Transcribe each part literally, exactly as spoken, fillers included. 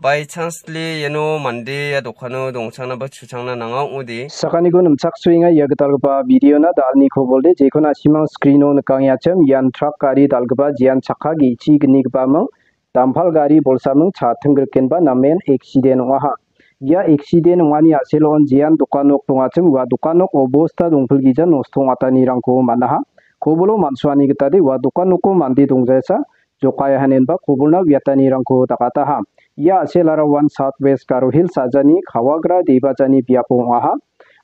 By chancely iano mande ia dokano dongchangna ba chuchangna nanga ong·ode. Sakaniko nimchaksoenga ia gitalgipa videona dalni kobolde jekon na·simang screeno nikangenga chim ian truck gari dalgipa jean chakka ge·chi gnigipaming dampal gari bolsaming cha tinggrikenba namen accident ong·aha. Ia accident ong·ani a·selon jean dokan nok dongachim ua dokan nok obosta dongpilgija nosto ong·atanirangko man·aha. Kobolo man·suani gitade ua dokan noko mande dongjasa jokaia hanenba kobolna uiatanirangko dakataha. Ia a·selara One South West Garo Hills a·jani Kawagra Debajani biapo ong·aha.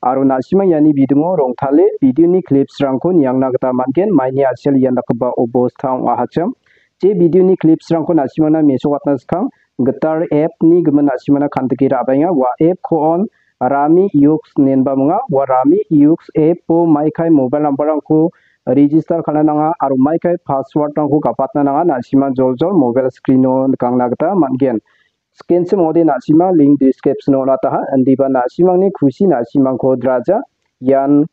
Aro na·sima iani bidingo rongtale videoni clipsrangko niangna gita man·gen, maini a·sel ian dakgipa obosta ong·ahachim. Je videoni clipsrangko na·simana mesokatna skang gitar appni gimin na·simana kandike ra·baenga. Ua appko on Rami Yux inenba minga. Ua Rami Yux appo maikai mobile numberrangko register ka·na nanga aro maikai passwordrangko gapatna nanga. Na·sima joljol mobile screeno nikangna gita man·gen. Skenchim ong·ode na·sima link descriptiono on·ataha. Indiba na·simangni kusi na·simangko draja. Ian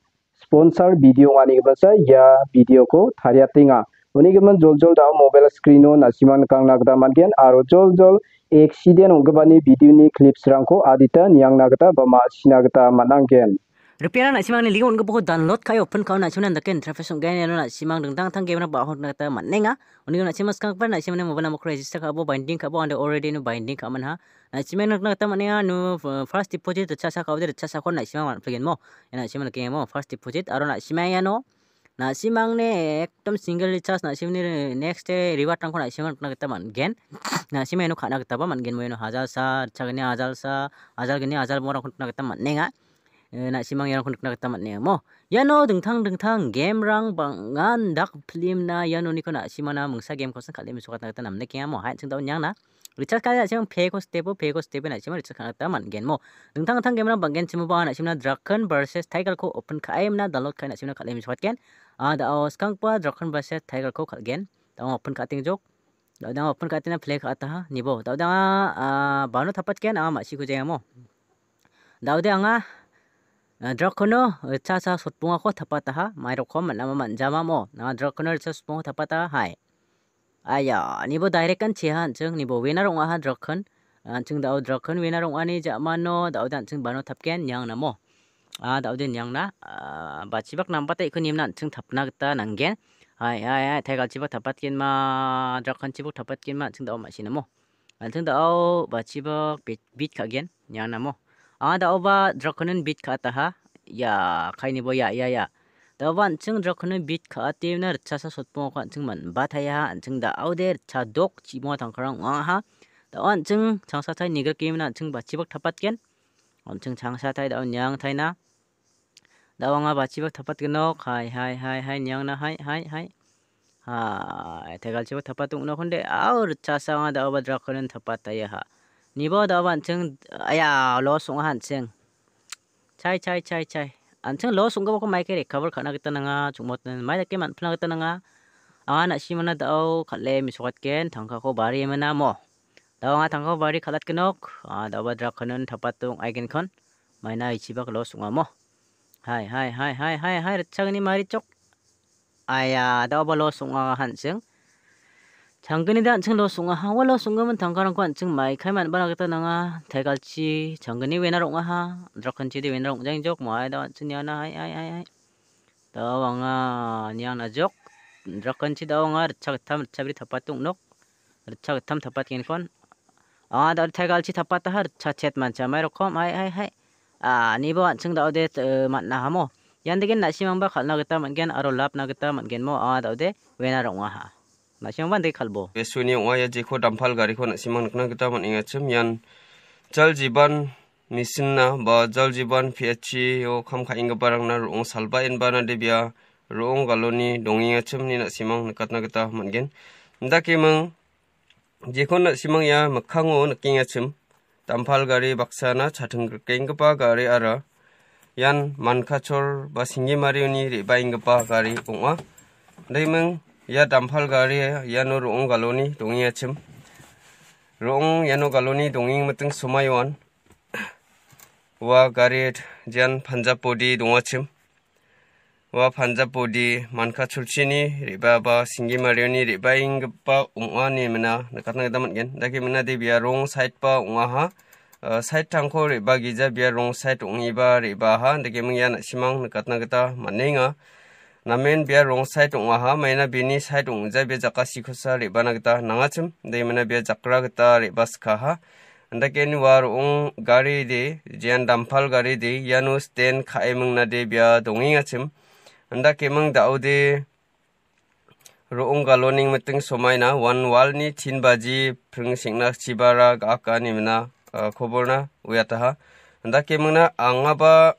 sponsor video ong·ani gipinsa ia videoko tariatenga. Uni gimin joljol da·o mobile screeno na·simang nikangna gita man·gen aro joljol accident ong·gipani videoni clipsrangko adita niangna gita ba ma·sina gita man·angen. Ripiara na·simangni link on·gipako download ka·e open ka·o na·simangna indake interface ong·gen iano na·simang dingtang dingtang gamerang ba·a hokna gita man·enga. Uni gimin na·simang skanggipa na·simangni mobile numberko register ka·abo binding ka·abo ande already ino binding ka·aman ha. Na·simang nikna gita man·enga, no, uh, first deposit ritchasa ka·ode ritchasako na·simang man·pligin mo. Ia na·simang nikengemo first deposit aro na·simang iano na·simangni ekdom single recharge na·simangni next day rewardrangko na·simang nikna gita man·gen. Na·simang iano ka·na gitaba man·gen mo iano hajalsa, ritchagni hajalsa, hajalgni hajalbongrangko nikna gita man·enga. Eh, na·simang iarangko nikna gita man·enga mo. Iano dingtang dingtang gamerang bang·an dak filmna ia noniko na·simana mingsa gamekosan kal·e mesokatna gita namnikengamo. Hai, an·ching da·o niangna. Recharge ka·e na·simang payko step-o, payko step-e na·simang recharge ka·na gita man·gen mo. Dingtang dingtang gamerang bang·genchimoba na·simna Draken versus Tigerko open ka·emna download ka·e na·simna kal·e mesokatgen. A da·o skanggipa Draken versus Tigerko kal·gen. Da·o open ka·atengjok. Da·o dang open ka·atena play ka·ataha. Nibo. Da·o dang a, a, bano tapatgen anga ma·siko jengamo. Da·ode anga, a, Drakono, a, cha cha sotbongako tapataha. Mairokom man·ama man·jamamo. Anga Drakono cha sotbongako tapataha. Hai. Aya, nibo direct an cheha an·ching. Nibo winner ong·aha Draken. An·ching da·o Draken winner ong·ani ja·mano. Da·ode an·ching bano tapgen. Niang namo. A, da·ode niangna. A, bachibak nambata iko nimna an·ching tapna gita nanggen. Hai, hai, hai. Taigalchibak tapatgenma. Drakenchibak tapatgenma. An·ching da·o ma·sinamo. An·ching da·o bachibak bit, bit ka·gen, nianamo. Anga da·oba Drakonin bit ka·ataha. Ia, kainibo ia, ia, ia. Da·oba an·ching Drakonin bit ka·atemna ritchasa sotbongako an·ching man·bataiaha. An·ching da·ode ritchadok chibonga tangkarang ong·angaha. Da·o an·ching changsatai nigrikemina an·ching bachibak tapatgen. An·ching changsatai da·o niangtaina. Da·o anga bachibak tapatgenok. Hai, hai, hai, hai, niangna, hai, hai, hai. Hai, tegalchibak tapat ong·nokonde. Au, ritchasa anga da·oba Drakonin tapataiaha. Nibo da·oba an·ching, aya, loss ong·aha an·ching. Chai, chai, chai, chai. An·ching loss ong·gipako maike recover ka·na gita nanga, chongmotna mai dake man·pilna gita nanga. Anga na·simana da·o kal·e mesokatgen, tangkako bari emena mo. Da·o anga tangkako bari kal·atgenok. A, da·oba Drakonin tapat ong·aigenkon. Maina ichibak loss ong·amo. Hai, hai, hai, hai, hai, hai, ritchagni marichok. Aya, da·oba loss ong·a han·ching. Changgni da an·ching loss ong·aha. Ua loss ong·gimin tangkarangko an·ching maikai man·bana gita nanga. Tegalchi changgni winner ong·aha. Drakenchi de winner ong·jaengjok. Mai da an·ching niana. Hai, hai, hai, hai. Da·o anga niang najok. Drakenchi da·o anga ritchagittam, ritchabri tapat ong·nok. Ritchagittam tapatgenkon. Anga da·o tegalchi tapataha ritchachet mancha mai rokom. Hai, hai, hai. A, nibo an·ching da·ode, eh, man·a hamo. Ian degen na·simangba kal·na gita man·gen aro lapna gita man·gen mo. Anga da·ode winner ong·aha. Na·simangba ande kal·bo. Besuni ong·a ia jeko dampal gariko na·simang nikna gita man·engachim. Ian jal jiban mesinna ba jal jiban P H C-o kam ka·enggiparangna ro·ong salba enbana debia ro·ong galoni dongengachimni na·simang nikatna gita man·gen. Indakeming jekon na·simang ia mikkango nikengachim, dampal gari baksana chating grikenggipa gari ara ian Mankachor ba Singgimarioni re·baenggipa gari ong·a. Indakeming ia dampal gari iano ro·ong galoni dongengachim. Ro·ong iano galoni dongengmiting somaioan ua gari jean Punjab-ode dongachim. ua Punjab bodi Mankacholchini re·baa ba Singimarioni re·baenggipa ong·a ine mina nikatna gita man·gen. Dake mina de bia wrong side ba ong·aha. Ah, side-rangko re·bagija bia wrong side ong·eba re·baaha. Dake ming ia na·simang nikatna gita man·enga. Namen bia wrong side ong·aha. Maina bini side ong·ja bia jakasikosa re·bana gita nangachim. Dake mina bia jakra gita re·baskaha. Andaken ua ro·ong gari de, jean dampal gari de, iano sten ka·e mingnade bia dongengachim. Andakeming da·ode ro·ong galoneng miting somaina one walni tin baji pring sengna chibara ga·aka ine mina, ah, koborna uiataha. Andakemingna angaba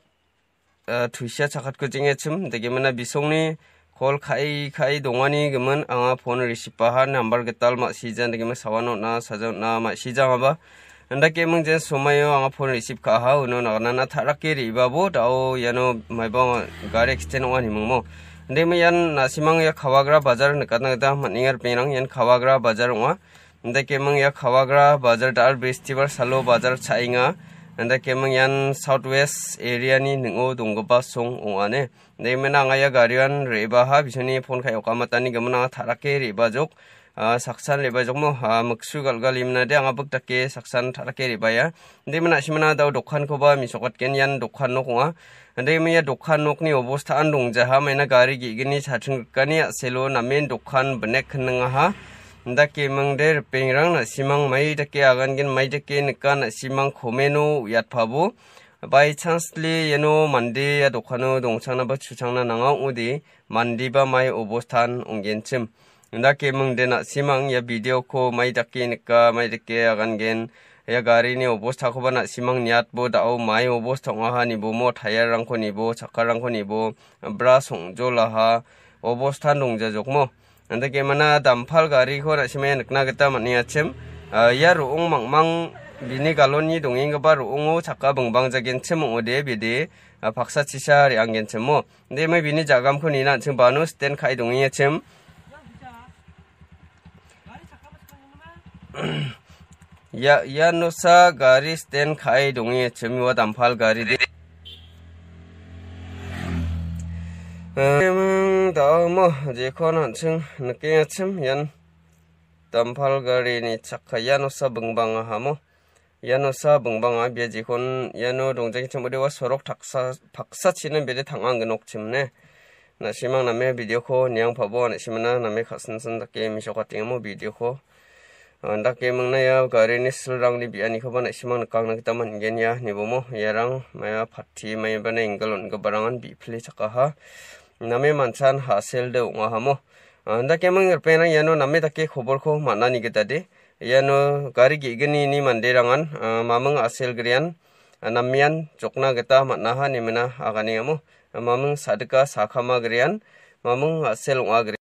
ah, tusia chakatko jeng·echim, dake mina bisongni kol ka·e, ka·e dongani gimin anga phone receive-aha, nambar gital ma·sija, dake mina sawan on·a, saja on·a, ma·sijangaba. Andake mingjen somaio anga phone receive ka·aha, uno naganana ta·rake re·babo, da·o iano maiba gari accident ong·a nimingmo. Inde ma ian na·simang ia Kawagra bajar nikatna gita man·enga ripengrang, ian Kawagra bajar ong·a. Indakeming ia Kawagra bajar da·al bestibar salo bajar cha·enga. Indakeming ian South West area-ni ning·o donggipa song ong·a ine. Indakemina anga ia garian re·baha bisoni phone ka·e okamatani gimin anga ta·rake re·bajok. Ah, saksan re·bajokmo, ah, miksu galgal imnade anga bik dake saksan ta·rake re·baia. Indakemina na·simana da·o dokankoba mesokatgen, ian dokan nok ong·a. Indakeming ia dokan nokni obostaan dongjaha, maina gari ge·gni cha·ching rikani a·selo namen dokan binek hindingaha. Indakemingde ripengrang na·simang mai dake agangen, mai dake nika na·simang komeno uiatpabo. By chancely iano mande ia dokano dongchangna ba chuchangna nanga ong·ode, mandeba mai obostan ong·genchim. Indakemingde na·simang ia video-ko mai dake nika, mai dake agangen, ia garini obostakoba na·simang niatbo da·o mai obosta ong·aha nibomo, tyre-rangko nibo, chakkarangko nibo, bra songjolaha obostan dongjajokmo. Indakemana dampal gariko na·simang ia nikna gita man·engachim. Ah, ia ro·ong mangmang bini galonni dongenggipa ro·ongo chakka bingbangjagenchim ong·ode bede, ah, paksachisa re·anggenchimo. Inde mai bini jagamko nina an·ching bano sten ka·e dongengachim. Ia, ia nosa gari sten ka·e dongengachim, ua dampal gari de. Em, da·amo jekon an·ching nikengachim, ian dampal garini chakka, ia nosa bingbangahamo. Ia nosa bingbanga bia jekon iano dongjangchim ode ua sorok taksa, paksachina bede tang·angginokchim ne. Na·simang name video-ko niangpabo, na·simana name ka·sinsin dake mesokatengamo video-ko. Andake mingna ia garini silrangni bi·anikoba na·simang nikangna gita man·gen ia nibomo. Iarang maia patti maibana enggal on·giparangan bi·pile chakaha. Name manchan ha·selde ong·ahamo. Andake ming ripengrang iano name dake koborko man·ani gita de. Iano gari ge·gnini manderangan, ah, maming a·selgrian, ah, namean jokna gita man·aha ine mina aganengamo. Maming sadika sakama grian, maming a·sel ong·a gri-,